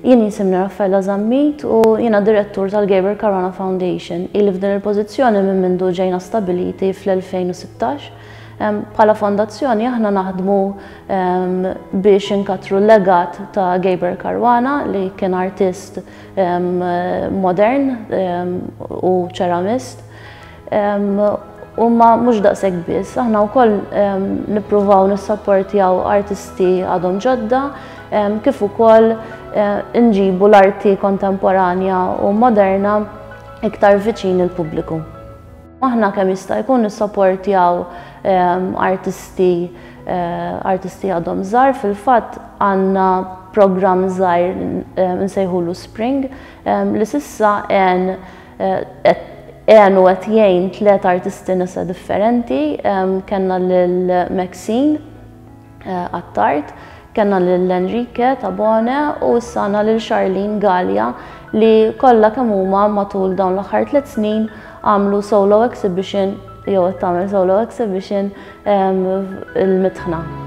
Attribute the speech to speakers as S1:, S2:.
S1: Jien jisimni Raffaella Zammit u jiena direttur tal-Gabriel Caruana Foundation. Ili f'din il-pożizzjoni minn mindu ġejna stabiliti fl-2016. Bħala fondazzjoni aħna naħdmu biex inkattru l-legat ta' Gabriel Caruana li kien artist modern u ċeramist. U ma mhux daqshekk biss, aħna wkoll nippruvaw nissapportjaw artisti għadhom ġodda kif ukoll nġibu l-arti kontemporanja u moderna iktar viċin il-pubbliku. Aħna kemm jista' jkun nissapportjaw artisti artisti għadhom żgħar, fil-fatt għandna programm żgħir nsejħulu Spring li s'issa għen għen u qed jgħin tlet artisti nisa differenti, kellna lil Maxine Attard, kellna lil Enrique Tabone u issa għandna lil Charlene Galea li kollha kemm huma matul dawn l-aħħar tliet snin għamlu solo exhibition jew qed tagħmel solo exhibition il-Mitħna.